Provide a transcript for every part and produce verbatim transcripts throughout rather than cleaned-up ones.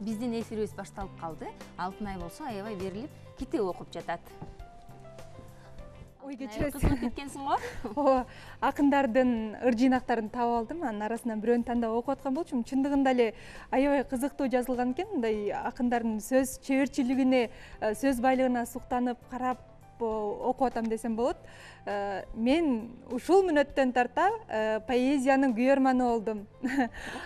биздин эфирибиз башталып калды. Алтынай болсо аябай берилип китеп окуп жатат. Ой, кечиресиз. Кызыгып кеткенсиң го? Ооба, акындардын ыр жыйнактарын таап алдым. Анын арасынан бирөөнү тандап окуп аткан болчумун. Чындыгында эле аябай кызыктуу жазылган экен. Мындай акындардын сөз чеберчилигине, сөз байлыгына суктанып карап окуп атам десем болот. Мен ушул мүнөттөн тарта поэзиянын күйөрманы болдум.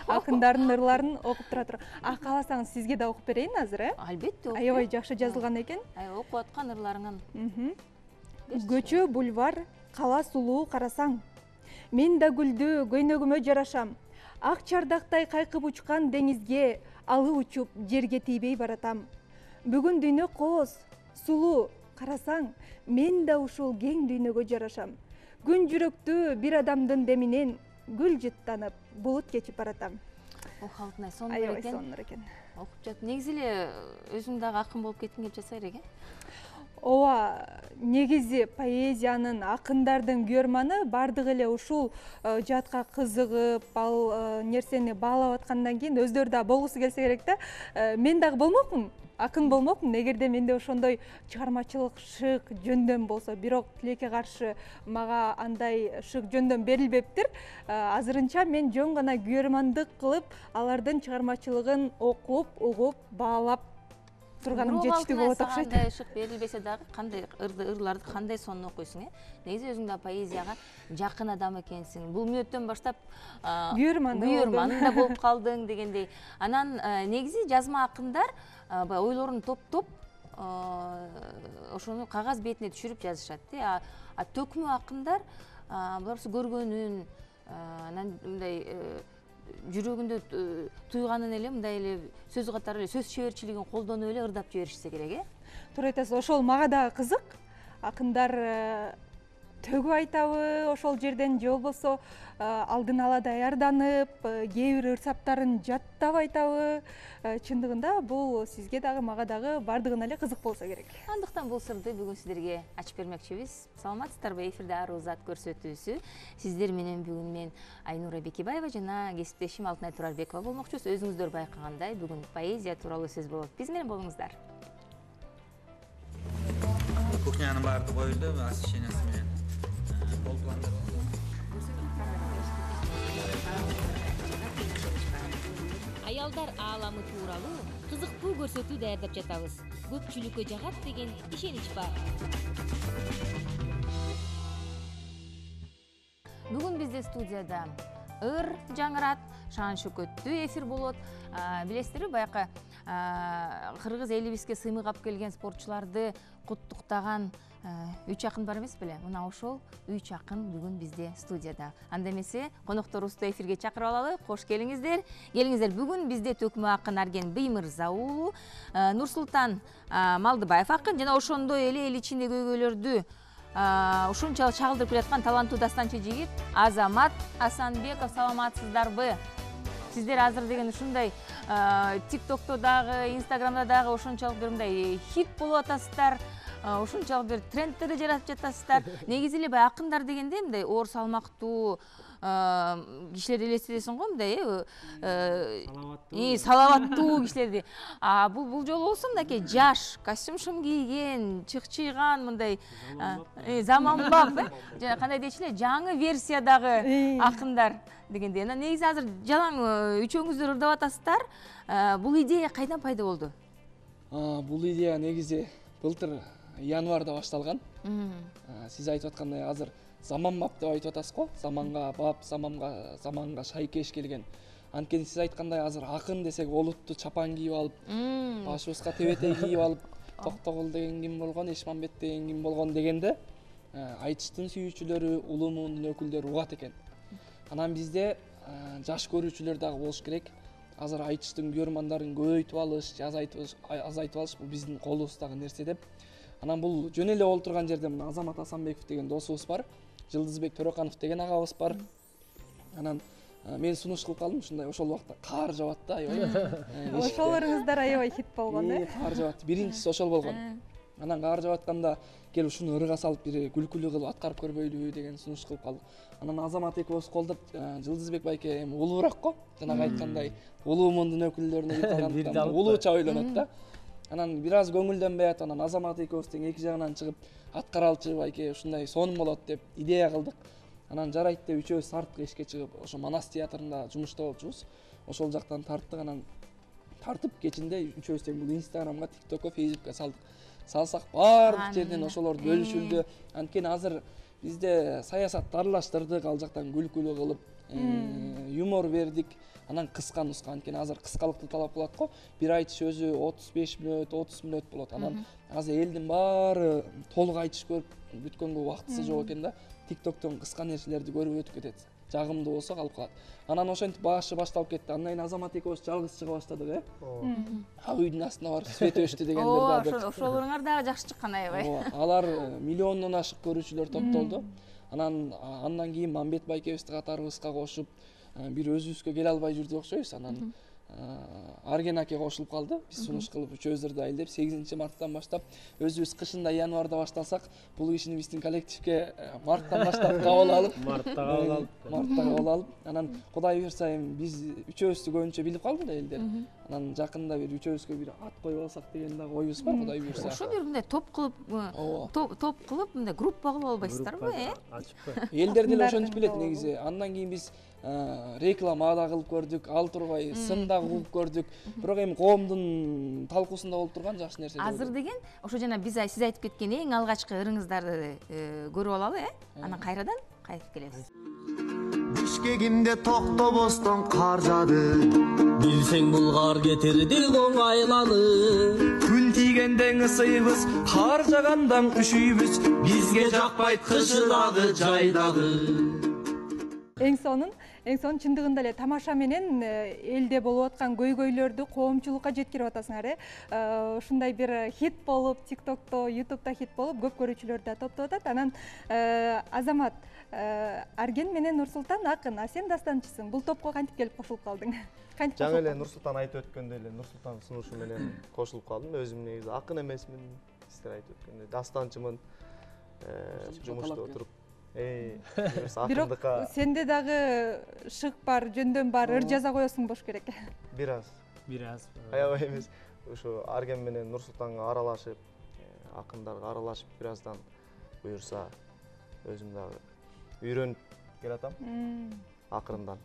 Акындардын ырларын окуп тура туруп. А кааласаңыз сизге да окуп берейин азыр, э? Албетте. Аябай жакшы жазылган экен. Окуп аткан ырларыңан. Көчө бульвар, кала сулуу карасаң. Мен да гүлдү көйнөгүмө жарашам. Ак чардактай кайкып учкан деңизге алып учуп жерге тийбей баратам. Бүгүн дүйнө кооз, сулуу карасаң, мен да ушул кең дүйнөгө жарашам. Күн жүрөктүү бир адамдын деминен гүл жыттанып, булут кечип баратам. Ох, Алтынай, сонун экен. Аябай сонун экен. Окуп жат. Негизи эле өзүң дагы акын болуп кеткиң кеп жатса керек, э? Ооба, негизи поэзиянын, акындардын күйөрманы бардыгы эле ушул жаатка кызыгып, ал нерсени баалап аткандан кийин өздөрү да болгусу келсе керек да. Мен дагы болмокмун, акын болмокмун, эгерде менде ошондой чыгармачылык шык жөндөм болсо. Бирок тилекке каршы мага андай шык жөндөм берилбептир. Азырынча мен жөн гана күйөрмандык кылып, алардын чыгармачылыгын окуп, угуп, баалап турганым жетиштүү болот окшойт. Кандай шык берилбесе дагы кандай ырларды кандай сонун окуйсуң, э? Негизи өзүң да поэзияга жакын адам экенсиң. Бул мүнөттөн баштап күйөрман да болуп калдың дегендей. Анан негизи жазма акындар баягы ойлорун топтоп, ошону кагаз бетине түшүрүп жазышат, э? А төкмө акындар буларсы көргөнүн, анан мындай жүрөгүндө туйганын эле мындай эле сөз катары эле сөз чеберчилигин колдонуп эле ырдап жиберишсе керек, э? Туура айтасыз. Ошол мага дагы кызык. Акындар төгүп айтабы ошол жерден же болбосо алдын ала даярданып, кээ бир ыр саптарын жаттап айтабы? Чындыгында бул сизге дагы мага дагы бардыгына эле кызык болсо керек. Андыктан бул сырды бүгүн сиздерге ачып бермекчибиз. Саламатсыздарбы? Эфирде Ар Узат көрсөтүүсү. Сиздер менен бүгүн мен Айнура Бекебаева жана кесиптешим Алтынай Турарбекова болмокчубуз. Өзүңүздөр байкагандай, бүгүн поэзия тууралуу сөз болот. Биз менен болуңуздар. Кухнянын баардыгы коюлду, освещениясы менен болуп. Аялдар ааламы тууралуу кызыктуу көрсөтүү даярдап жатабыз. Көпчүлүккө жагат деген ишенич бар. Бүгүн бизде студияда ыр жаңырат, шаан шөкөттүү эфир болот. Билесиздерби, баякы кыргыз элибизге сыймык алып келген спортчуларды куттуктаган үч акын бар эмес беле? Мына ошол үч акын бүгүн бизде студияда. Анда эмесе конокторубузду эфирге чакырып алалы. Кош келиңиздер. Келиңиздер. Бүгүн бизде төкмө акын Арген Биймырза уулу, Нурсултан Малдыбаев акын жана ошондой эле эл ичинде көйгөйлөрдү ушунчалык чагылдырып келаткан таланттуу дастанчы жигит Азамат Асанбеков. Саламатсыздарбы? Сиздер азыр деген ушундай ТикТокто дагы, Инстаграмда дагы ошончолук бир мындай хит болуп атасыздар. Ушунчалык бир трендтерди жаратып жатасыздар. Негизи эле баягы акындар дегенде мындай оор салмактуу кишилерди элестетесиң го, мындай э салаваттуу кишилерди. А бул бул жолу болсо мынакей жаш, костюм-шым кийген, чыкчыйган мындай заманбап, э? Жана кандай дечи эле, жаңы версиядагы акындар дегендей. Анан негизи азыр жалаң үчөөңүздөр ырдап атасыздар. Бул идея кайдан пайда болду? Бул идея негизи былтыр январда башталган. Сиз айтып аткандай азыр заманбап деп айтып атасыз го. Заманга бап, заманга заманга шайкеш келген. Анткени сиз айткандай азыр акын десек олуттуу чапан кийип алып, башыбызга тебетей кийип алып, Токтогул деген ким болгон, Эшмамбет деген ким болгон дегенде айтыштын сүйүүчүлөрү, улумунун өкүлдөрү угат экен. Анан бизде жаш көрүүчүлөр дагы болуш керек. Азыр айтыштын күйөрмандарын көбөйтүп алыш, азайтып алыш бул биздин колубуздагы нерсе деп. Анан бул жөн эле болуп турган жерде мына Азамат Асанбеков деген досубуз бар, Жылдызбек Төрөканов деген агабыз бар. Анан мен сунуш кылып калдым, ушундай ошол убакта каар жаабат да, аябай. Ошолоруңуздар аябай хит болгон, э? Каар жаабат. Биринчиси ошол болгон. Анан кар жаап атканда кел ушуну ырга салып бир күлкүлүү кылып аткарып көрбөйлүбү деген сунуш кылып калдык. Анан Азамат экөөбүз колдоп, Жылдызбек байке эми улуураак го, жанагы айткандай улуу мундун өкүлдөрүнө бир калгандыктан улууча ойлонот да. Анан бир аз көңүлдөнбөй атып, анан Азамат экөөбүз тең эки жагынан чыгып аткаралчы байке ушундай сонун болот деп идея кылдык. Анан жарайт деп үчөөбүз тарттык эшикке чыгып, ошо Манас театрында жумушта болчубуз. Ошол жактан тарттык, анан тартып кечинде үчөөбүз тең бул Инстаграмга, ТикТокко, Фейсбукка салдык. Салсак баардык жерден ошолор бөлүшүлдү. Анткени азыр бизде саясатты аралаштырдык, ал жактан күлкүлүү кылып, юмор бердик. Анан кыска нуска, анткени азыр кыскалыкты талап кылат го. Бир айтыш өзү отуз беш мүнөт, отуз мүнөт болот. Анан азыр элдин баары толук айтыш көрүп бүткөнгө убактысы жок экен да. ТикТоктон кыска нерселерди көрүп өтүп кетет. Жагымдуу болсо калып калат. Анан ошентип башы башталып кетти. Андан кийин Азамат экөөбүз жалгыз чыга баштадык, э? Ак үйдүн астына барып свет өчтү дегендер да. Ооба, ошолоруңар дагы жакшы чыккан аябай. Ооба, алар миллиондон ашык көрүүчүлөр топтолду. Анан андан кийин Мамбет байкебизди катарыбызга кошуп, бир өзүбүзгө келе албай жүрдүк окшойбуз. Анан Арген аке кошулуп калды. Биз сунуш кылып үчөөбүздөр да элдеп сегизинчи марттан баштап өзүбүз кышында январда баштасак, бул кишини биздин коллективге марттан баштап кабыл алып, мартта кабыл алып, мартта кабыл алып, анан Кудай буйрса эми биз үчөөбүздү көбүнчө билип калды да элдер. Анан жакында бир үчөөбүзгө бир ат коюп алсак деген дагы оюбуз бар, Кудай буйрса. Ошо бир мындай топ кылып, топ кылып мындай группа кылып албайсыздарбы, э? Ачыппы. Элдер деле ошентип билет негизи. Андан кийин биз реклама да кылып көрдүк, ал турбай сын да кууп көрдүк. Бирок эми коомдун талкуусунда болуп турган жакшы нерсе. Азыр деген ошо жана биз сиз айтып кеткен эң алгачкы ырыңыздарды көрүп алалы, э? Анан кайрадан кайтып келебиз. Бишкегимде токтобостон кар жаады. Билсең бул кар кетирди оңайланы. Күн тийгенден ысыйбыз, кар жагандан үшүйбүз. Бизге жакпайт кышы дагы, жай дагы. Эң сонун, эң сонун чындыгында эле тамаша менен элде болуп аткан көйгөйлөрдү коомчулукка жеткирип атасыңар, э? Ушундай бир хит болуп, ТикТокто, Ютубта хит болуп, көп көрүүчүлөр да топтоп атат. Анан Азамат, Арген менен Нурсултан акын, а сен дастанчысың. Бул топко кантип келип кошулуп калдың? Жаңы эле Нурсултан айтып өткөндөй эле Нурсултан сунушу менен кошулуп калдым. Өзүм негизи акын эмесмин, сиздер айтып өткөндөй дастанчымын. Жумушта отуруп бирок сенде дагы шык бар, жөндөм бар, ыр жаза коесуң болуш керек. Бир аз. Бир аз. Аябай эмес. Ошо Арген менен Нурсултанга аралашып, акындарга аралашып бир аздан буюрса өзүм дагы үйрөнүп келатам. Акырындан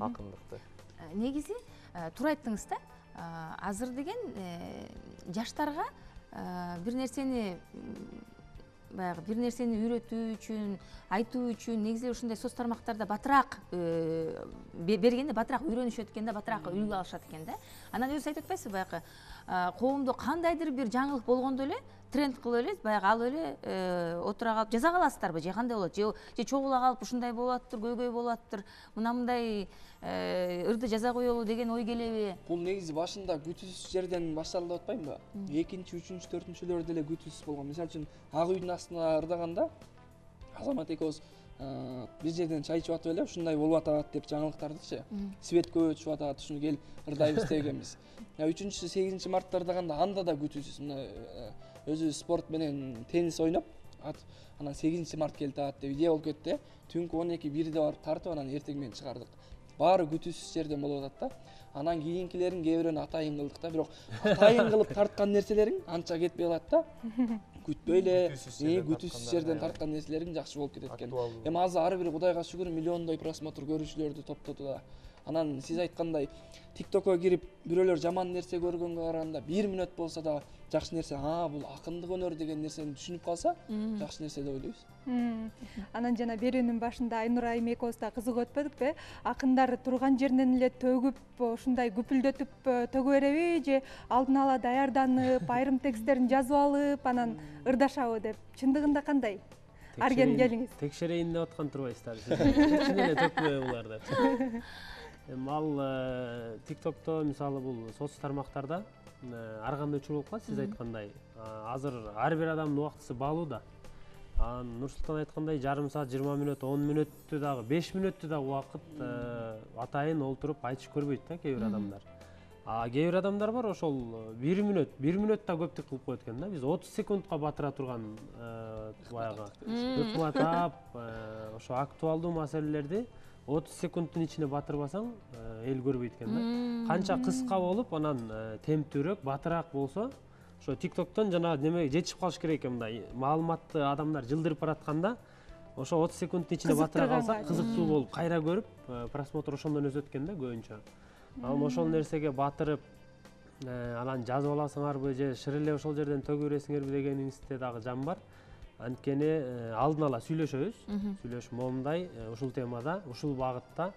акындыкты. Негизи туура айттыңыз да. Азыр деген жаштарга бир нерсени баягы бир нерсени үйрөтүү үчүн, айтуу үчүн негизи ушундай соц тармактарда батыраак бергенде батыраак үйрөнүшөт экен да, батыраак үлгү алышат экен да. Анан өзү айтып атпайсызбы баягы коомдо кандайдыр бир жаңылык болгондо эле тренд кылып эле баягы алып эле отура калып жаза каласыздарбы, же кандай болот, же чогула калып ушундай болуп атыптыр, көйгөй болуп атыптыр, мына мындай ырды жаза коелу деген ой келеби? Бул негизи башында күтүүсүз жерден башталды деп атпаймынбы? Экинчи, үчүнчү, төртүнчүлөр деле күтүүсүз болгон. Мисалы үчүн Ак үйдүн астына ырдаганда Азамат экөөбүз бир жерден чай ичип атып эле ушундай болуп атат деп жаңылыктардыкчы. Свет көп өчүп атат, ушуну кел ырдайбыз дегенбиз. үчүнчү, сегизинчи мартта ырдаганда анда да күтүүсүз. Мына өзү спорт менен теннис ойноп, анан сегизинчи март келип атат деп идея болуп кетти. Түнкү он эки бирде барып тартып, анан эртең менен чыгардык. Баары күтүүсүз жерден болуп атат да. Анан кийинкилерин кээ бирөөнү атайын кылдык да, бирок атайын кылып тарткан нерселериң анча кетпей калат да. Күтпөй эле, күтүүсүз жерден тарткан нерселериң жакшы болуп кетет экен. Эми азыр ар бир Кудайга шүгүр миллиондой просмотр көрүүчүлөрдү топтоду да. Анан сиз айткандай ТикТокко кирип бирөөлөр жаман нерсе көргөнгө караганда бир мүнөт болсо да жакшы нерсе, а бул акындык өнөр деген нерсени түшүнүп калса, жакшы нерсе деп ойлойбуз. Анан жана берүүнүн башында Айнур айым экөөбүз да кызыгып өтпөдүкпү? Акындар турган жеринен эле төгүп, ушундай күпүлдөтүп төгө береби, же алдын ала даярданып, айрым тексттерин жазып алып, анан ырдашабы деп? Чындыгында кандай? Арген келиңиз. Текшерейин деп аткан турбайсыздар. Чын эле төкпөбү булар деп. Эми ал ТикТокто мисалы бул соц тармактарда ар кандай учур болуп калат, сиз айткандай. Азыр ар бир адамдын убактысы баалуу да. Анан Нурсултан айткандай жарым саат, жыйырма мүнөт, он мүнөттү дагы, беш мүнөттү дагы убакыт атайын олтуруп айтыш көрбөйт да кээ бир адамдар. А кээ бир адамдар бар, ошол бир мүнөт, бир мүнөт да көптүк кылып коет экен да. Биз отуз секундка батыра турган баягы өкмөт тап, ошо актуалдуу маселелерди отуз секундтун ичине батырбасаң, эл көрбөйт экен да. Канча кыска болуп, анан темптүүрөөк, батыраак болсо, ошо TikToктон жана неме жетишип калыш керек экен мындай маалыматты адамдар жылдырып баратканда, ошо отуз секундтун ичине батыра калсак, кызыктуу болуп, кайра көрүп, просмотр ошондон өсөт экен да көбүнчө. Ал ошол нерсеге батырып, анан жазып аласыңарбы же шыр эле ошол жерден төгүп бересиңерби дегениңизде дагы жан бар. Анткени алдын ала сүйлөшөбүз, сүйлөшүп момундай, ушул темада, ушул багытта,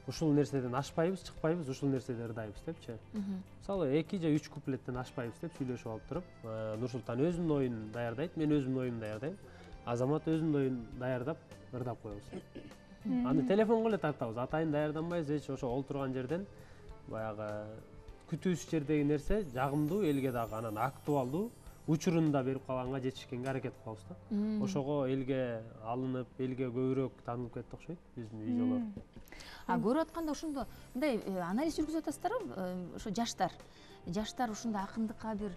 ушул нерседен ашпайбыз, чыкпайбыз, ушул нерседе ырдайбыз депчи. Мисалы эки же үч куплеттен ашпайбыз деп сүйлөшүп алып туруп, Нурсултан өзүнүн оюн даярдайт, мен өзүмдүн оюмду даярдайм. Азамат өзүнүн оюн даярдап, ырдап коебуз. Аны телефонго эле тартабыз, атайын даярданбайбыз, эч ошо олтурган жерден баягы күтүүсүз жердеги нерсе жагымдуу, элге дагы анан актуалдуу, учурунда берип калганга жетишкенге аракет кылабыз да. Ошого элге алынып, элге көбүрөөк таанылып кетти окшойт биздин видеолор. А көрүп атканда ошондо мындай анализ жүргүзүп атасыздарбы? Ошо жаштар, жаштар ушундай акындыкка бир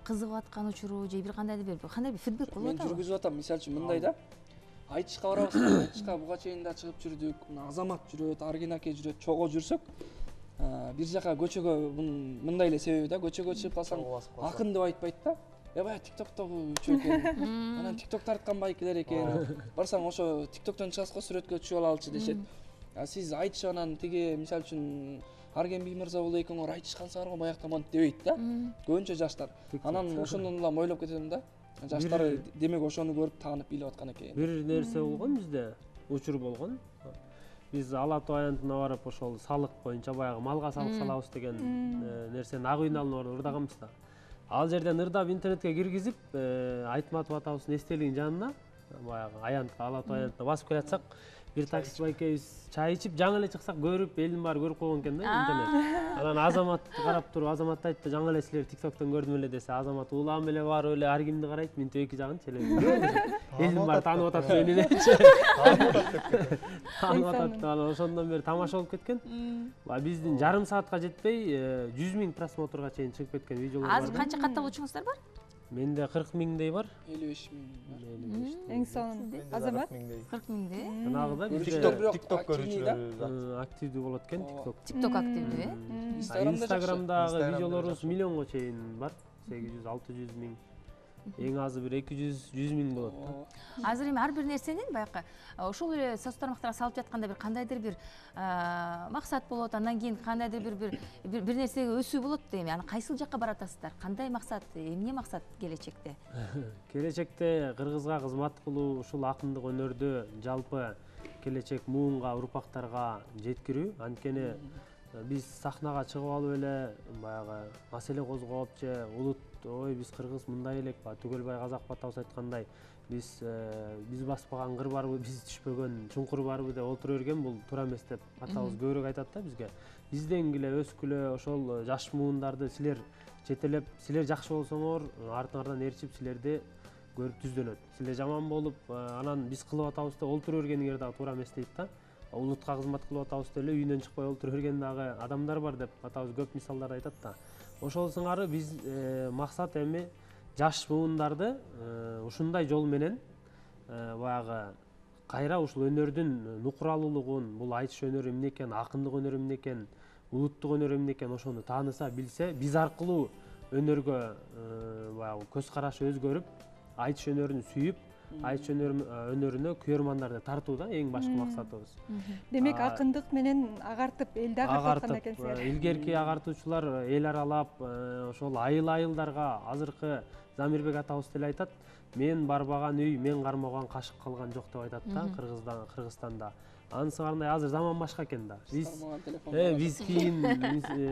кызыгып аткан учуру же бир кандайдыр бир кандай бир фидбек болуп атабы? Мен жүргүзүп атам, мисалы үчүн мындай да. Айтышка барабыз, айтышка буга чейин да чыгып жүрдүк. Азамат жүрөт, Аргин аке жүрөт, чогуу жүрсөк, бир жака көчөгө мындай эле себеби да, көчөгө чыгып калсаң акын деп айтпайт да. Я баягы TikToктогу үчөө экен. Анан TikTok тарткан байкелер экен. Барсаң ошо TikToктон чыгасыз го, сүрөткө түшүп алалычы дешет. А сиз айтышып анан тиги мисалы үчүн Арген Биймырза боло экөөңөр айтыш калсаңар го баягы таман дебейт да. Көбүнчө жаштар. Анан ошондон улам ойлоп кетем да. Жаштар демек ошону көрүп таанып билип аткан экен. Бир нерсе болгон бизде, учур болгон. Биз Ала Тоо аянтына барып ошол салык боюнча баягы малга салык салабыз деген нерсени ак үйүнүн алдына барып ырдаганбыз да. Ал жерден ырдап интернетке киргизип, Айтматов атабыздын эстелигинин жанына баягы аянтка, Ала Тоо аянтына басып келатсак, бир таксист байкебиз чай ичип, жаңы эле чыксак көрүп, элдин баары көрүп койгон экен да интернет. Анан Азаматты карап туруп, Азамат айтты, жаңы эле силер TikToктон көрдүм эле десе, Азамат улам эле барып эле Аргимди карайт, мынтип эки жагын челебиз. Элдин баары таанып атат мени депчи. Таанып атат. Анан ошондон бери тамаша болуп кеткен. Биздин жарым саатка жетпей жүз миң просмотрга чейин чыгып кеткен видеолор бар. Азыр канча катталуучуңуздар бар? Менде кырк миңдей бар. элүү беш миң. Эң сонун Азамат кырк миңдей. Жанагыда TikTok көрүүчүлөр активдүү болот экен, TikTok. TikTok активдүү, э? Инстаграмдагы видеолорубуз миллионго чейин бар. сегиз жүз алты жүз миң. Эң азы бир эки жүз жүз миң болот да. Азыр эми ар бир нерсенин баягы ошол эле соц тармактарга салып жатканда бир кандайдыр бир максат болот, андан кийин кандайдыр бир бир бир нерсеге өсүү болот да эми. Аны кайсыл жакка баратасыздар? Кандай максат, эмне максат келечекте? Келечекте кыргызга кызмат кылуу, ушул акындык өнөрдү жалпы келечек муунга, урпактарга жеткирүү. Анткени биз сахнага чыгып алып эле баягы маселе козгоп же улут ой биз кыргыз мындай элек ба, Түгөлбай Казаков атабыз айткандай, биз биз баспаган кыр барбы, биз түшпөгөн чуңкур барбы деп отура берген, бул туура эмес деп атабыз көбүрөөк айтат да бизге. Изденгиле, өскүлө, ошол жаш муундарды силер жетелеп, силер жакшы болсоңор, артыңардан ээрчип силерди көрүп түздөнөт. Силер жаман болуп, анан биз кылып атабыз деп олтура бергениңер дагы туура эмес дейт да. Улутка кызмат кылып атабыз деп эле үйүнөн чыкпай олтура берген дагы адамдар бар деп атабыз көп мисалдарды айтат да. Ошол сыңары биз максат эми жаш муундарды ушундай жол менен баягы кайра ушул өнөрдүн нукуралуулугун, бул айтыш өнөрү эмне экен, акындык өнөрү эмне экен, улуттук өнөр эмне экен ошону тааныса билсе, биз аркылуу өнөргө баягы көз карашы өзгөрүп, айтыш өнөрүн сүйүп, айтыш өнөрүнө күйөрмандарды тартуу да эң башкы максатыбыз. Демек акындык менен агартып, элди агартып аткан экенсиңер. Илгерки агартуучулар эл аралап, ошол айыл-айылдарга азыркы Замирбек атабыз деле айтат, мен барбаган үй, мен кармаган кашык калган жок деп айтат да Кыргыздан, Кыргызстанда. Анысыңарындай азыр заман башка экен да. Биз биз кийин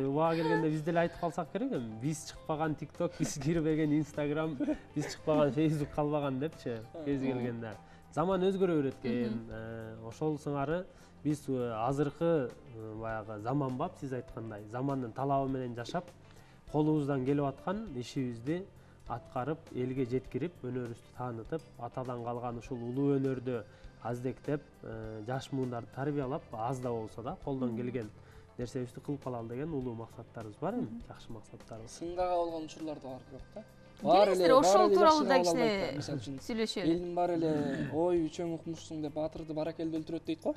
убага келгенде биз деле айтып калсак керек эми. Биз чыкпаган TikTok, биз кирбеген Instagram, биз чыкпаган Facebook калбаган депчи кез келгенде. Заман өзгөрө берет экен. Ошол сыңары биз азыркы баягы заманбап, сиз айткандай, замандын талабы менен жашап, колубуздан келип аткан ишибизди аткарып, элге жеткирип, өнөрүбүздү таанытып, атадан калган ушул улуу өнөрдү аздектеп, жаш муундарды тарбиялап, аз да болсо да колдон келген нерсебизди кылып калалы деген улуу максаттарыбыз бар, эми жакшы максаттарыбыз. Сынга кабылган учурлар да бар бирок да. Келиңиздер, ошол тууралуу да кичине мисалы үчүн сүйлөшөлү. элдин баары эле ой үчөң укмушсуң деп батырды баракелде өлтүрөт дейт го.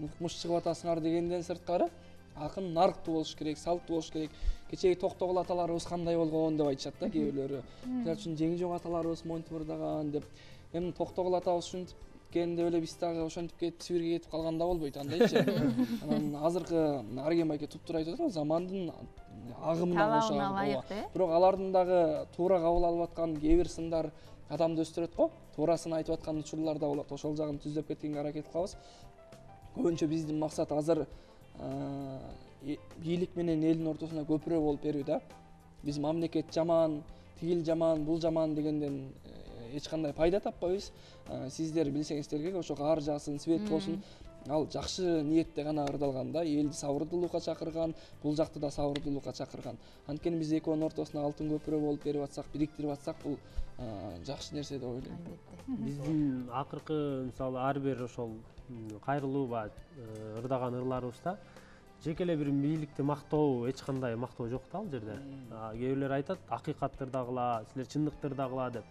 Укмуш чыгып атасыңар дегенден сырткары акын нарктуу болуш керек, салттуу болуш керек. Кечеги Токтогул аталарыбыз кандай болгон деп айтышат да кээ бирлери. Мисалы үчүн Жеңжок аталарыбыз монтип ырдаган деп. Эми Токтогул атабыз ушинтип кеткенде эле биз дагы ошентип кетип Сибирге кетип калганда болбойт андайчы. Анан азыркы Арген байке туптура айтып атат, замандын агымына кошо. Бирок алардын дагы туура кабыл алып аткан кээ бир сындар адамды өстүрөт го. Туурасын айтып аткан учурлар да болот. Ошол жагын түздөп кеткенге аракет кылабыз. Көбүнчө биздин максат азыр бийлик менен элдин ортосуна көпүрө болуп берүү да. Биз мамлекет жаман, тигил жаман, бул жаман дегенден эч кандай пайда таппайбыз. Сиздер билсеңиздер керек, ошо кар жаасын, свет болсун. Ал жакшы ниетте гана ырдалган да, элди сабырдуулукка чакырган, бул жакты да сабырдуулукка чакырган. Анткени биз экөөнүн ортосуна алтын көпүрө болуп берип атсак, бириктирип атсак, бул жакшы нерсе деп ойлойм. Биздин акыркы мисалы ар бир ошол кайрылуу ба ырдаган ырларыбызда жеке эле бир бийликти мактоо, эч кандай мактоо жок да ал жерде. Кээ бирлер айтат, акыйкатты ырдагыла, силер чындыкты ырдагыла деп.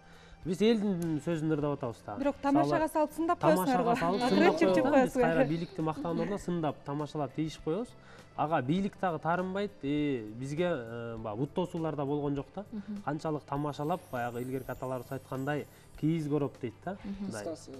Биз элдин сөзүн ырдап атабыз да. Бирок тамашага салып сындап коесуңар го. Тамашага салып сындап коебуз. Биз кайра бийликти мактагандан ордуна сындап, тамашалап тийишип коебуз. Ага бийлик дагы таарынбайт, бизге баягы бут тосуулар да болгон жок да. Канчалык тамашалап, баягы илгерки аталарыбыз айткандай кийиз короп дейт да. Кыскасы,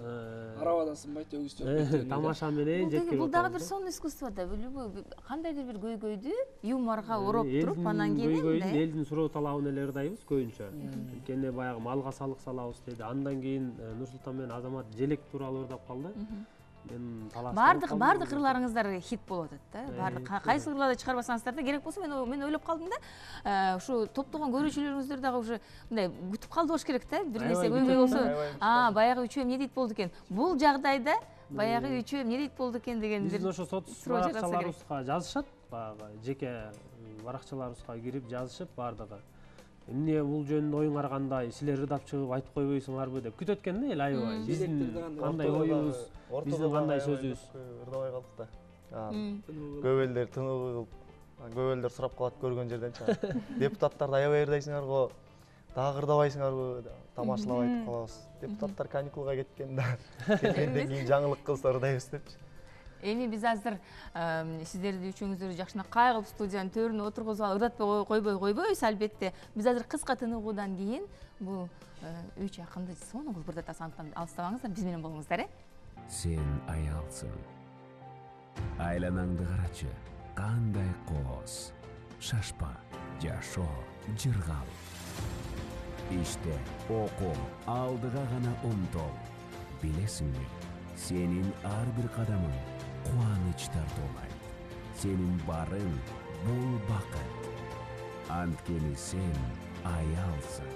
арабада сынбайт, өгүз төрөйт. Тамаша менен жеткирип. Бул дагы бир сонун искусство да, любой кандайдыр бир көйгөйдү юморго ороп туруп, анан кийин көйгөйдүн элдин суроо талабын эле ырдайбыз көбүнчө. Анткени баягы малга салык салабыз деди. Андан кийин Нурсултан менен Азамат желек тууралуу ырдап калды. Мен талаш. Бардык бардык ырларыңыздар хит болуп атат да. Бардык кайсы ырларды чыгарбасаңыздар да, керек болсо мен мен ойлоп калдым да, ушу топтогон көрүүчүлөрүңүздөр дагы уже мындай күтүп калды болуш керек да. Бир нерсе көйгөй болсо, а баягы үчөө эмне дейт болду экен? Бул жагдайда баягы үчөө эмне дейт болду экен деген бир. Биздин ошо соц баракчаларыбызга жазышат, баягы жеке баракчаларыбызга кирип жазышып бардыгы. Эмне бул жөнүндө оюңар кандай? Силер ырдап чыгып айтып койбойсуңарбы деп күтөт экен да эл аябай. Биздин кандай оюбуз, биздин кандай сөзүбүз ырдабай калдык да. Көп элдер тыныгып, көп элдер сурап калат көргөн жерденчи. Депутаттарды аябай ырдайсыңар го, дагы ырдабайсыңарбы? Тамашалап айтып калабыз. Депутаттар каникулга кеткен да. Кеткенден кийин жаңылык кылса ырдайбыз депчи. Эми биз азыр сиздерди үчөөңүздөрдү жакшынакай кылып студиянын төрүнө отургузуп алып ырдатпай койбой койбойбуз албетте. Биз азыр кыска тыныгуудан кийин бул үч акынды сонун кылып ырдатабыз, антан алыстабаңыздар, биз менен болуңуздар, э? Сен аялсың. Айланаңды карачы, кандай коос. Шашпа, жашоо, жыргал. Иште окуу, алдыга гана умтол. Билесиңби, сенин ар бир кадамың кубаныч тартуулайт. Сенин барың бул бакыт. Анткени сен аялсың.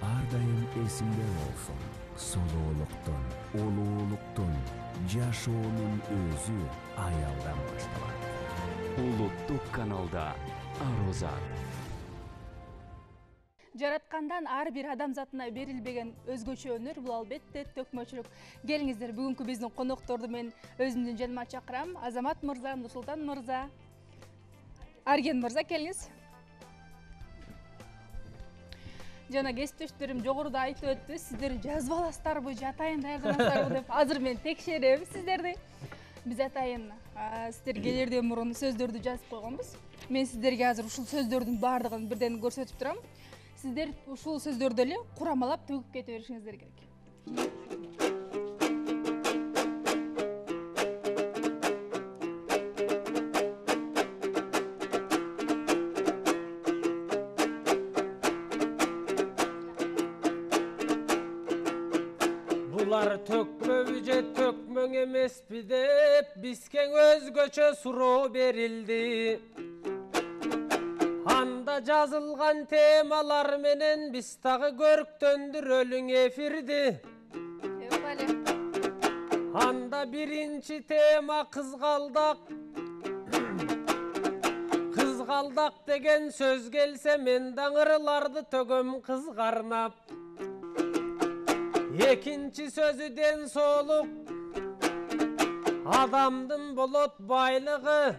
Ар дайым эсиңде болсун. Солуулуктун, улуулуктун, жашоонун өзү аялдан башталат. Улуттук каналда Арозат. Жараткандан ар бир адамзатына берилбеген өзгөчө өнөр бул албетте төкмөчүлүк. Келиңиздер, бүгүнкү биздин конокторду мен өзүмдүн жаныма чакырам. Азамат мырза, Нурсултан мырза, Арген мырза, келиңиз. Жана кесиптештөрүм жогоруда айтып өттү, сиздер жазып аласыздарбы, атайын даярданасыздарбы деп. Азыр мен текшерем сиздерди. Биз атайын сиздер келерден мурун сөздөрдү жазып койгонбуз. Мен сиздерге азыр ушул сөздөрдүн баардыгын бирден көрсөтүп турам. Сиздер ушул сөздөрдү эле курамалап төгүп кете беришиңиздер керек. Булар төкмөбү же төкмөң эмеспи деп бизге өзгөчө суроо берилди. Анда жазылган темалар менен биз дагы көрктөндүрөлүң эфирди. Анда биринчи тема кызгалдак. Кызгалдак деген сөз келсе мен даңырларды төгөм кызгарнап. Экинчи сөзү ден соолук. Адамдын болот байлыгы.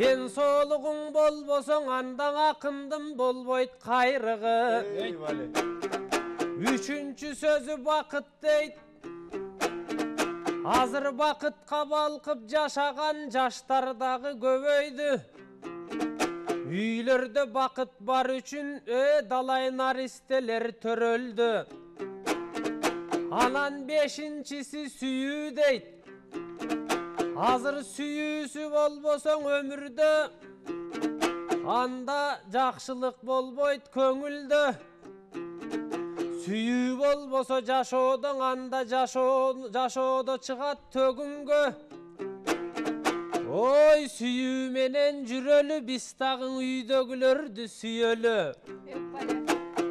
ден соолугуң болбосоң андан акындым болбойт кайрыгы. Үчүнчү сөзү бакыт дейт. Азыр бакытка балкып жашаган жаштар дагы көбөйдү. Үйлөрдө бакыт бар үчүн э далай наристелер төрөлдү. Анан бешинчиси сүйүү дейт. Азыр сүйүүсү болбосоң өмүрдө анда жакшылык болбойт көңүлдө. Сүйүү болбосо жашоодон анда жашоодо чыгат төгүнгө. Ой сүйүү менен жүрөлү биз дагы үйдөгүлөрдү сүйөлү.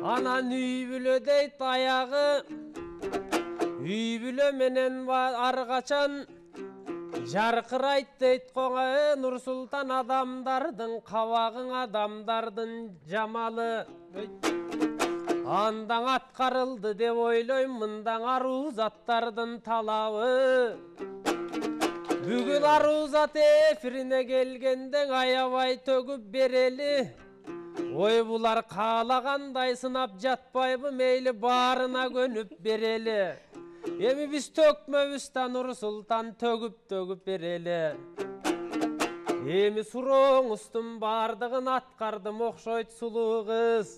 Анан үй бүлө дейт аягы. Үй бүлө менен ар качан жаркырайт дейт коңа. Нур-Султан адамдардын кабагың адамдардын жамалы. Андан аткарылды деп ойлойм мындан аруу заттардын талабы. Бүгүн аруу зат эфирине келгенден аябай төгүп берели. Ой булар каалагандай сынап жатпайбы, мейли баарына көнүп берели. Эми биз төкмөбүз да Нур-Султан төгүп төгүп берели. Эми сурооңуздун бардыгын аткардым окшойт сулуу кыз.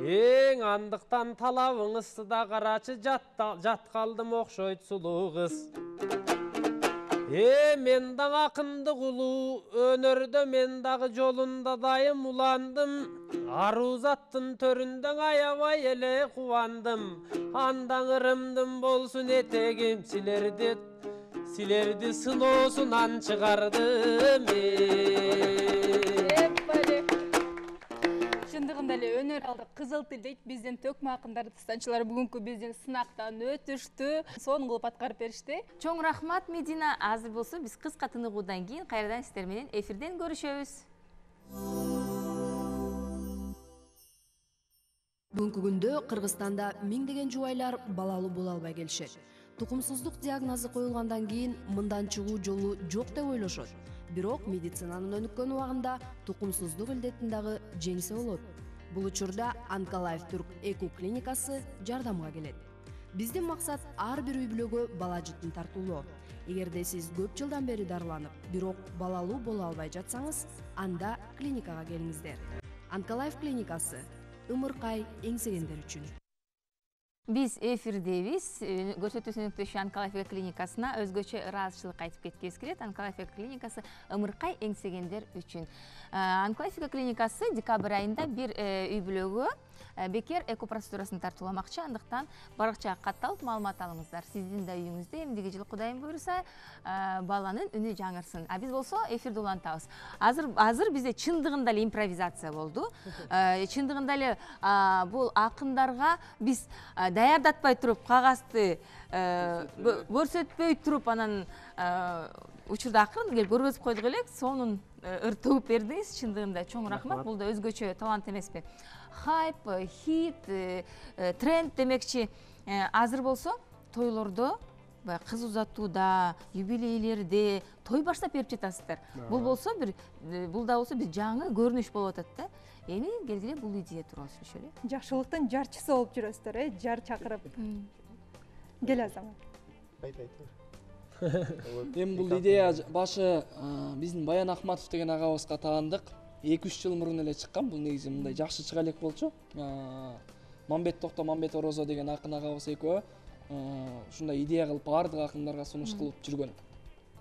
Эң андыктан талабыңызды да карачы, жат калдым окшойт сулуу кыз. Э мен дагы акындык улуу өнөрдө мен дагы жолунда дайым уландым. Аруу заттын төрүндөн аябай эле кубандым. Андан ырымдым болсун этегим силерди силерди сыноосунан чыгардым. Чындыгында эле өнөр алды кызыл тил дейт. Биздин төкмө акындар станчылары бүгүнкү биздин сынактан өтүштү. Сонун кылып аткарып беришти. Чоң рахмат Медина. Азыр болсо биз кыска тыныгуудан кийин кайрадан сиздер менен эфирден көрүшөбүз. Бүгүнкү күндө Кыргызстанда миңдеген жубайлар балалуу боло албай келишет. Тукумсуздук диагнозу коюлгандан кийин мындан чыгуу жолу жок деп ойлошот. Бирок медицинанын өнүккөн убагында тукумсуздук илдетин дагы жеңсе болот. Бул учурда Онколайф Түрк Эку клиникасы жардамга келет. Биздин максат ар бир үй бүлөгө бала жытын тартуулоо. Эгерде сиз көп жылдан бери дарыланып, бирок балалуу боло албай жатсаңыз, анда клиникага келиңиздер. Онколайф клиникасы ымыркай эңсегендер үчүн. Биз эфирдебиз. Көрсөтүүсүн өктөшү Онколайф клиникасына өзгөчө ыраазычылык айтып кеткебиз келет. Онколайф клиникасы ымыркай эңсегендер үчүн. Онколайф клиникасы декабрь айында бир үй бүлөгө бекер эко процедурасын тартууламакчы. Андыктан баракчага катталып маалымат алыңыздар. Сиздин да үйүңүздө эмдиги жылы Кудайым буйруса баланын үнү жаңырсын. А биз болсо эфирди улантабыз. Азыр азыр бизде чындыгында эле импровизация болду. Чындыгында эле бул акындарга биз даярдатпай туруп, кагазды көрсөтпөй туруп, анан учурда акырын келип көргөзүп койдук элек. Сонун ыр төгүп бердиңиз. Чындыгында чоң рахмат. Бул да өзгөчө талант эмеспи? Хайп, хит, тренд демекчи. Азыр болсо тойлордо, кыз узатууда, юбилейлерде той баштап берип жатасыздар. Бул болсо бир бул да болсо бир жаңы көрүнүш болуп атат да. Эми келгиле бул идея тууралуу сүйлөшөлү. Жакшылыктын жарчысы болуп жүрөсүздөр, э? Жар чакырып. Кел Азамат. Айт айт. Эми бул идея башы биздин Баян Ахматов деген агабызга таандык. эки үч жыл мурун эле чыккан. Бул негизи мындай жакшы чыга элек болчу. Мамбет Токто, Мамбет Орозо деген акын агабыз экөө ушундай идея кылып баардык акындарга сунуш кылып жүргөн.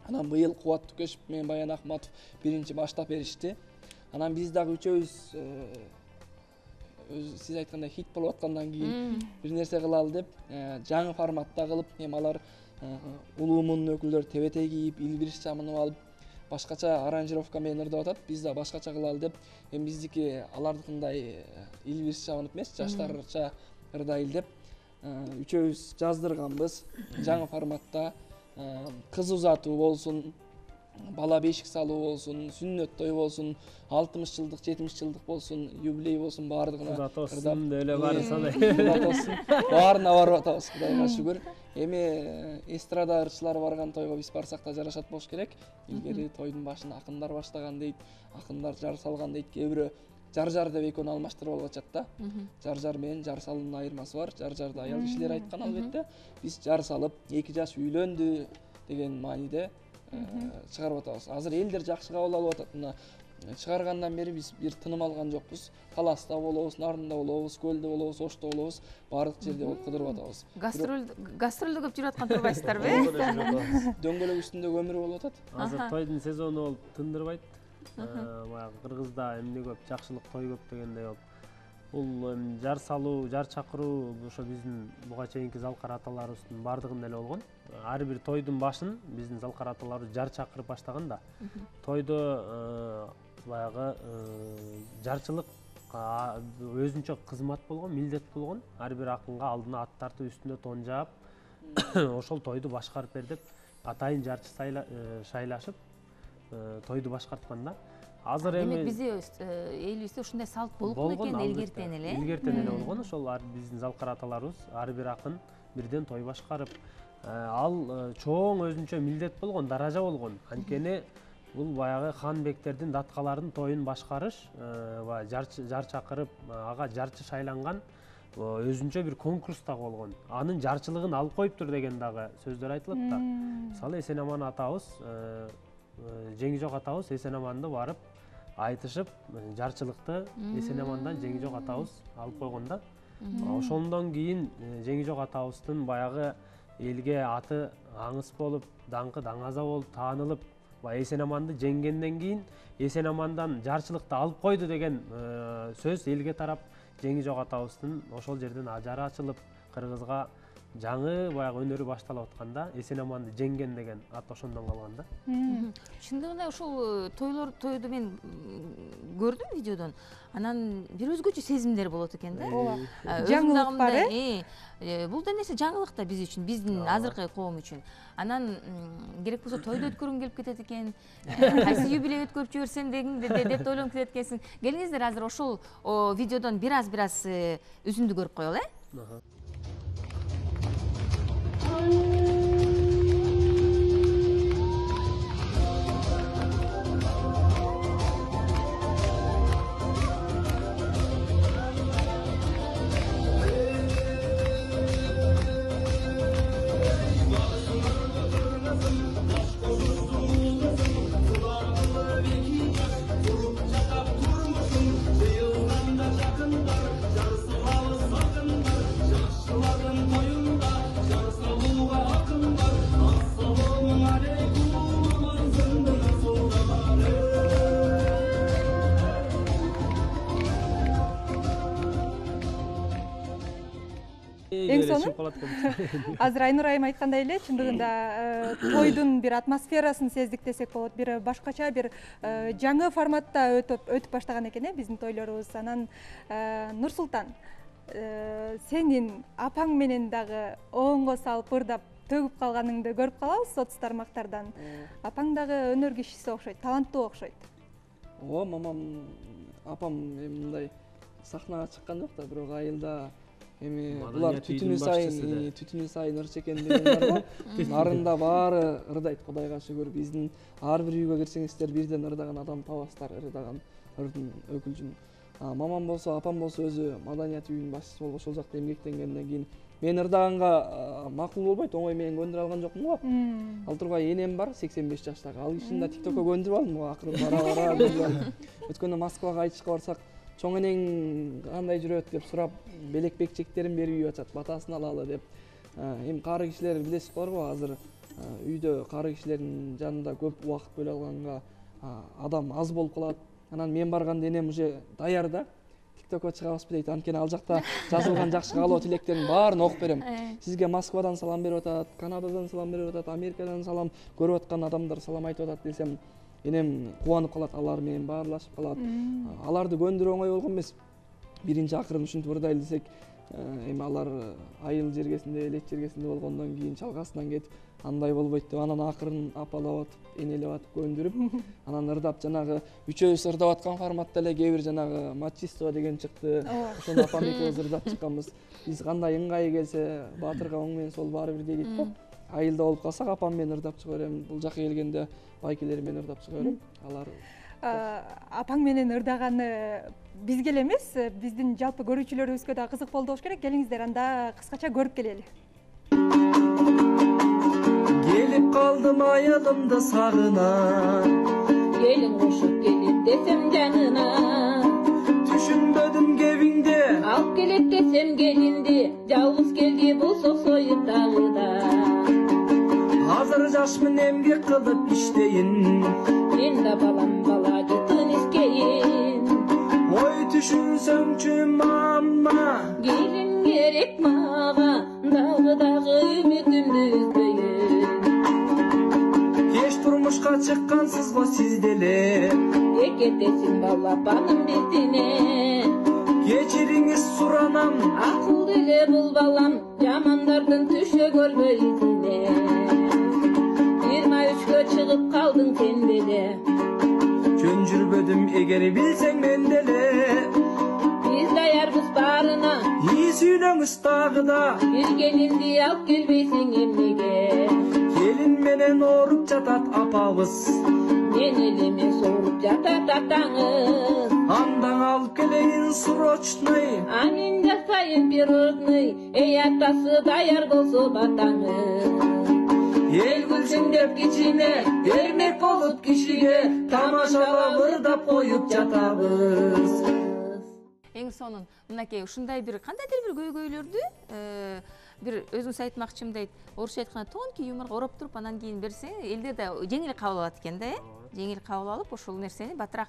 Анан быйыл Кубат Түкешев менен Баян Ахматов биринчи баштап беришти. Анан биз дагы үчөөбүз сиз айткандай хит болуп аткандан кийин бир нерсе кылалы деп жаңы форматта кылып, эми алар улуумун өкүлдөрү тебете кийип, илбириш чамынып алып, башкача аранжировка менен ырдап атат. Биз да башкача кылалы деп, эми биздики алардыкындай илбириш чабынып эмес, жаштарча ырдайлы деп үчөөбүз жаздырганбыз. Жаңы форматта кыз узатуу болсун, бала бешик салуу болсун, сүннөт той болсун, алтымыш жылдык, жетимиш жылдык болсун, юбилей болсун, баардыгына Кудай тоосун эле баары санай. Кудай тоосун. Баарына барып атабыз, Кудайга шүгүр. Эми эстрада ырчылары барган тойго биз барсак да жарашат болуш керек. Илгери тойдун башын акындар баштаган дейт, акындар жар салган дейт. Кээ бирөө жар-жар деп экөөнү алмаштырып алып атышат да. Жар-жар менен жар салуунун айырмасы бар. Жар-жарды аял кишилер айткан албетте. Биз жар салып, эки жаш үйлөндү деген мааниде чыгарып атабыз. Азыр элдер жакшы кабыл алып атат. Мына чыгаргандан бери биз бир тыным алган жокпуз. Таласта болобуз, Нарында болобуз, Көлдө болобуз, Ошто болобуз, баардык жерде болуп кыдырып атабыз. Гастроль гастролдо көп жүрүп аткан турбайсыздарбы? Дөңгөлөк үстүндөгү өмүр болуп атат. Азыр тойдун сезону болуп тындырбайт. Баягы Кыргызда эмне көп, жакшылык той көп дегендей болуп. Бул жар салуу, жар чакыруу ошо биздин буга чейинки залкар аталарыбыздын баардыгында эле болгон. Ар бир тойдун башын биздин залкар аталарыбыз жар чакырып баштаган да. Тойдо баягы жарчылык өзүнчө кызмат болгон, милдет болгон. Ар бир акынга алдына ат тартып, үстүнө тон жаап, ошол тойду башкарып бер деп атайын жарчы шайлашып тойду башкарткан да. Азыр эми демек бизде элибизде ушундай салт болуп экен илгертен эле. Илгертен эле болгон. Ошол биздин залкар аталарыбыз ар бир акын бирден той башкарып, ал чоң өзүнчө милдет болгон, даража болгон. Анткени бул баягы хан бектердин, даткалардын тоюн башкарыш, жар чакырып, ага жарчы шайланган өзүнчө бир конкурс дагы болгон. Анын жарчылыгын алып коюптур деген дагы сөздөр айтылат да. Мисалы Эсенаман атабыз, Жеңижок атабыз Эсенаманды барып айтышып, жарчылыкты Эсенамандан Жеңижок атабыз алып койгон да. Ошондон кийин Жеңижок атабыздын баягы элге аты аңыс болуп, даңкы даңаза болуп таанылып, Эсенаманды жеңгенден кийин Эсенамандан жарчылыкты алып койду деген сөз элге тарап, Жеңижок атабыздын ошол жерден ажары ачылып, Кыргызга жаңы баягы өнөрү башталып атканда Эсенаманды жеңген деген ат ошондон калган да. Чындыгында ушул тойлор тойду мен көрдүм видеодон. Анан бир өзгөчө сезимдер болот экен да. Жаңылык бар, э? Бул да нерсе жаңылык да биз үчүн, биздин азыркы коом үчүн. Анан керек болсо тойду өткөргүң келип кетет экен. Кайсы юбилей өткөрүп жиберсем деп ойлонуп кетет экенсиң. Келиңиздер азыр ошол видеодон бир аз бир аз үзүндү көрүп коелу, э? Азыр Айнур айым айткандай эле, чындыгында тойдун бир атмосферасын сездик десек болот. Бир башкача, бир жаңы форматта өтүп баштаган экен, э, биздин тойлорубуз. Анан Нурсултан, сенин апаң менен дагы оңго салып, ырдап төгүп калганыңды көрүп калабыз соц тармактардан. Апаң дагы өнөр кишиси окшойт, таланттуу окшойт. Ооба, мамам, апам эми мындай сахнага чыккан жок да, бирок айылда эми булар түтүнү сайын, түтүнү сайын ырчы экен деген бар го. Нарында баары ырдайт, Кудайга шүгүр. Биздин ар бир үйгө кирсеңиздер бирден ырдаган адам табасыздар, ырдаган ырдын өкүлчүн. Мамам болсо, апам болсо өзү маданият үйүнүн башчысы болуп, ошол жакта эмгектенгенден кийин мен ырдаганга макул болбойт, оңой менен көндүрө алган жокмун го. Ал тургай энем бар, сексен беш жаштагы. Ал кишини да тиктокко көндүрүп алдым го, акырын бара бара көндүрүп алдым. Өткөндө Москвага айтышка барсак, чоң энең кандай жүрөт деп сурап, белек бекчектерин берип үйүп атат, батасын алалы деп. Эми кары кишилер билесиз го, азыр үйдө кары кишилердин жанында көп убакыт бөлө алганга адам аз болуп калат. Анан мен барганда энем уже даяр да. тиктокко чыгабызбы дейт. Анткени ал жакта жазылган жакшы каалоо тилектердин баарын окуп берем. Сизге Москвадан салам берип атат, Канададан салам берип атат, Америкадан салам, көрүп аткан адамдар салам айтып атат десем, энем кубанып калат, алар менен баарлашып калат. Аларды көндүрүү оңой болгон эмес. Биринчи акырын ушинтип ырдайлы десек, эми алар айыл жергесинде, элек жергесинде болгондон кийин чалгасынан кетип, андай болбойт деп анан акырын апалап атып энелеп атып көндүрүп анан ырдап жанагы үчөөбүз ырдап аткан форматта эле кээ бир жанагы мачисто деген чыкты. Ошону апам экөөбүз ырдап чыкканбыз. Биз кандай ыңгайы келсе баатырга оң менен сол баары бир дейт го. Айылда болуп калсак апам менен ырдап чыга берем. Бул жака келгенде байкелерим менен ырдап чыга берем. Алар апаң менен ырдаганы бизге эле эмес, биздин жалпы көрүүчүлөрүбүзгө да кызык болду болуш керек. Келиңиздер, анда кыскача көрүп келели. Келип калдым айылымды сагына, келин кошуп келет десем жанына, түшүнбөдүм кебиңде алып келет десем келинди, жалгыз келди болсок союп дагы да. Азыр жашмын эмгек кылып иштейин, мен да балам бала жытын искейин. Ой түшүнсөңчү мама, келин керек мага, дагы дагы үмүтүмдү үзбөйүн. Кеч турмушка чыккансыз го сиз деле, экетесиң балапаным биздине. Кечириңиз суранам, акылды эле бул балам, жамандардын түшө көрбөй изине. Жыйырма үчкө чыгып калдың сен деле, жөн жүрбөдүм эгер билсең мен деле. Биз даярбыз баарына, ий сүйлөңүз дагы да, бир келинди алып келбейсиң эмнеге. Келин менен ооруп жатат апабыз, мен эле эмес ооруп жатат атаңыз. Андан алып келейин срочный, анын жасайын пирожный, эй атасы даяр болсо батаңыз. Эл күлсүн деп кичине, бермек болуп кишиге, тамашалап ырдап коюп жатабыз. Эң сонун мынакей ушундай бир кандайдыр бир көйгөйлөрдү бир өзүңүз айтмакчымын дейт. Орусча айтканда тонкий юморго ороп туруп анан кийин берсең, элдер да жеңил кабыл алат экен да, э? Жеңил кабыл алып, ошол нерсени батыраак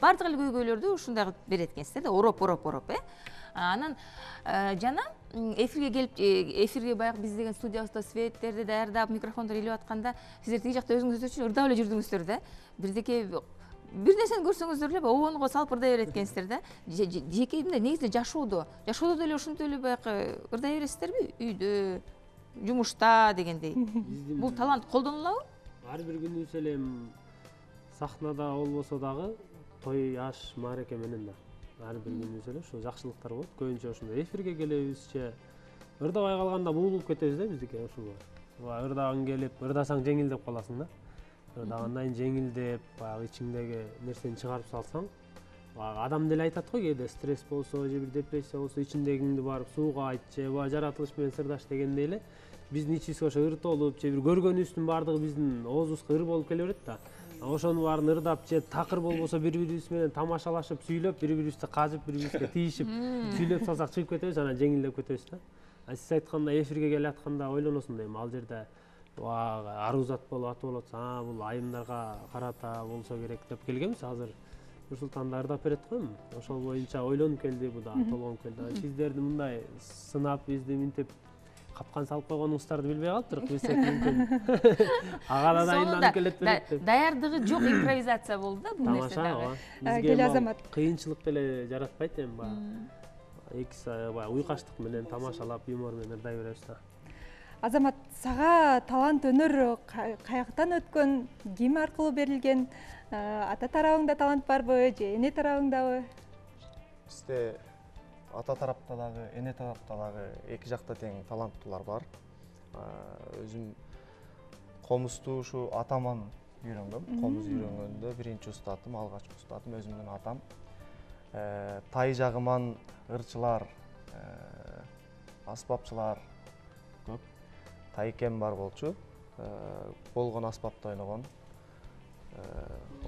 бардык эле көйгөйлөрдү ушундай кылып берет экенсиздер да, ороп ороп ороп, э? Анан жана эфирге келип, эфирге баягы биз деген студиябызда светтерди даярдап, микрофондор илип атканда, сиздер тиги жакта өзүңүздөр ырдап эле жүрдүңүздөр да. Бирдеке бир нерсени көрсөңүздөр эле обонго салып ырдай берет экенсиздер да. Жеке мындай негизинде жашоодо, жашоодо деле ошентип эле баягы ырдай бересиздерби? Үйдө, жумушта дегендей. Бул талант колдонулабы? Ар бир күнүбүз эле сахнада болбосо дагы, той, аш, маареке менен да. Ар бир күнүбүз эле ушул жакшылыктар болот. Көбүнчө ошондой эфирге келебизче, ырдабай калганда буулуп кетебиз да биздики ушул. Ырдагың келип, ырдасаң жеңилдеп каласың да. Ырдагандан жеңилдеп, баягы ичиңдеги нерсени чыгарып салсаң, адам деле айтат го, кээде стресс болсо, же бир депрессия болсо, ичиңдегиңди барып сууга айт, же жаратылыш менен сырдаш дегендей эле, биздин ичибизге ошо ыр толуп, же бир көргөнүбүздүн баардыгы биздин оозубузга ыр болуп келе берет да. Ошонун баарын ырдап, же такыр болбосо бири-бирибиз менен тамашалашып, сүйлөп, бири-бирибизди кажып, бири-бирибизге тийишип, сүйлөп салсак чыгып кетебиз, анан жеңилдеп кетебиз да. Сиз айткандай эфирге келе атканда ойлоносуң дейм, ал жерде арузат болуп атып болот, а бул айымдарга карата болсо керек деп келгенбиз. Азыр Нурсултан да ырдап берет го, ошол боюнча ойлонуп келди, бу да толгонуп келди. Сиздерди мындай сынап, бизди минтип капкан салып койгонуңуздарды билбей калыптыр, билсек мүмкүн. Ага да дайынданып келет берет деп. Даярдыгы жок импровизация болду да бул нерсе дагы. Кел Азамат. Кыйынчылык деле жаратпайт эми баягы. Эки баягы уйкаштык менен тамашалап, юмор менен ырдай беребиз да. Азамат, сага талант өнөр каяктан өткөн, ким аркылуу берилген? Ата тарабыңда талант барбы, же эне тарабыңдабы? Бизде ата тарапта дагы, эне тарапта дагы эки жакта тең таланттуулар бар. Өзүм комузду ушу атаман үйрөнгөм. Комуз үйрөнгөндө биринчи устатым, алгачкы устатым өзүмдүн атам. Тай жагыман ырчылар, аспапчылар көп. Тайкем бар болчу, болгон аспапта ойногон.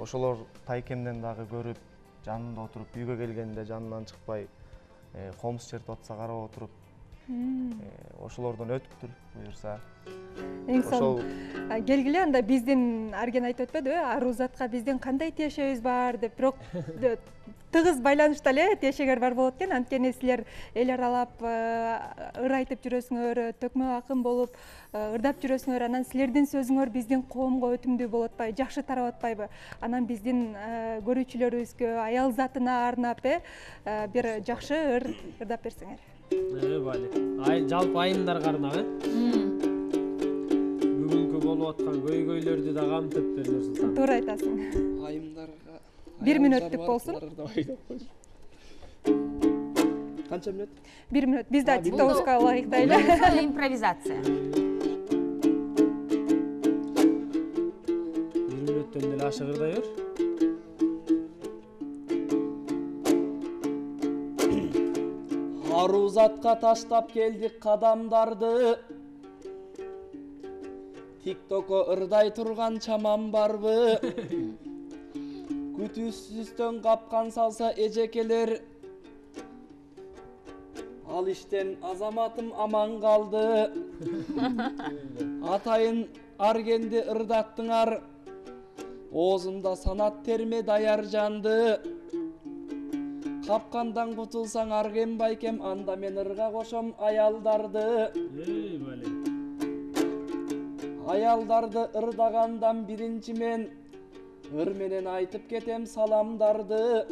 Ошолор тайкемден дагы көрүп, жанында отуруп, үйгө келгенде жанынан чыкпай, комуз чертип атса карап отуруп, ошолордон өтүптүр буюрса. Эң сонун. Келгиле, анда биздин Арген айтып өтпөдүбү, арузатка биздин кандай тиешебиз бар деп, бирок тыгыз байланышта эле тиешегер бар болот экен. Анткени силер эл аралап ыр айтып жүрөсүңөр, төкмө акын болуп ырдап жүрөсүңөр, анан силердин сөзүңөр биздин коомго өтүмдүү болуп атпайбы, жакшы тарап атпайбы? Анан биздин көрүүчүлөрүбүзгө, аял затына арнап бир жакшы ыр ырдап берсеңер. Э, бали. Ай, жалпы айымдарга арнап, э? болуп аткан көйгөйлөрдү да камтыптыр Нурсултан. Туура айтасың. Айымдарга бир мүнөттүк болсун. Канча мүнөт? бир мүнөт. Биз да тиктокубузга ылайыктайлы. Импровизация. бир мүнөттөн деле ашыгырдай бер. Арузатка таштап келдик кадамдарды, тиктокко ырдай турган чамам барбы? Күтүүсүздөн капкан салса эжекелер, ал иштен азаматым аман калды. Атайын аргенди ырдаттыңар, оозунда санат терме даяр жанды. Капкандан кутулсаң арген байкем, анда мен ырга кошом аялдарды. Аялдарды ырдагандан биринчи мен ыр менен айтып кетем саламдарды.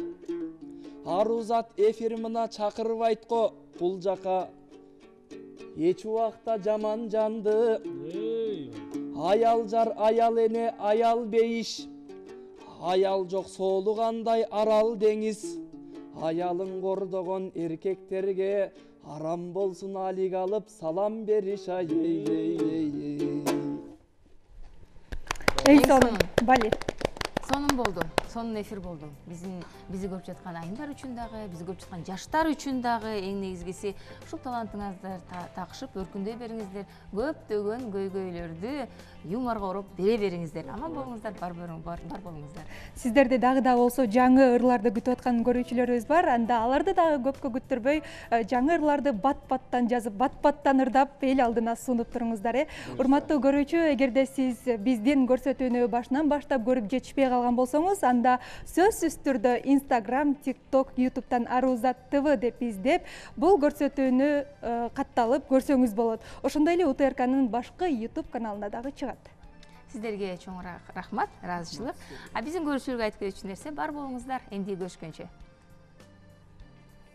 Арузат эфир мына чакырбайт го бул жака, эч убакта жаман жанды. Аял жар, аял эне, аял бейиш, аял жок соолугандай арал деңиз. Аялын кордогон эркектерге арам болсун алик алып салам бериш. Ай ей ей. Эң сонун балет. Сонун болду. Сонун эфир болду. Биздин бизди көрүп жаткан айымдар үчүн дагы, бизди көрүп жаткан жаштар үчүн дагы эң негизгиси ушул талантыңызды такшып өркүндөй бериңиздер. Көптөгөн көйгөйлөрдү юморго ороп бере бериңиздер. Аман болуңуздар, бар бар болуңуздар. Сиздерди дагы да болсо жаңы ырларды күтүп аткан көрүүчүлөрүбүз бар. Анда аларды дагы көпкө күттүрбөй жаңы ырларды бат-баттан жазып, бат-баттан ырдап эл алдына сунуп туруңуздар. Урматтуу көрүүчү, эгерде сиз биздин көрсөтүүнү башынан баштап көрүп жетишпей калган болсоңуз, анда сөзсүз түрдө Instagram, TikTok, YouTube'тан Арузат ТВ деп издеп, бул көрсөтүүнү катталып көрсөңүз болот. Ошондой эле У Т Р К'нын башкы YouTube каналына дагы чыгат. Сиздерге чоң рахмат, ыраазычылык. А биздин көрүүчүлөргө айтып кетчү нерсе бар болуңуздар, энди көрүшкөнчө.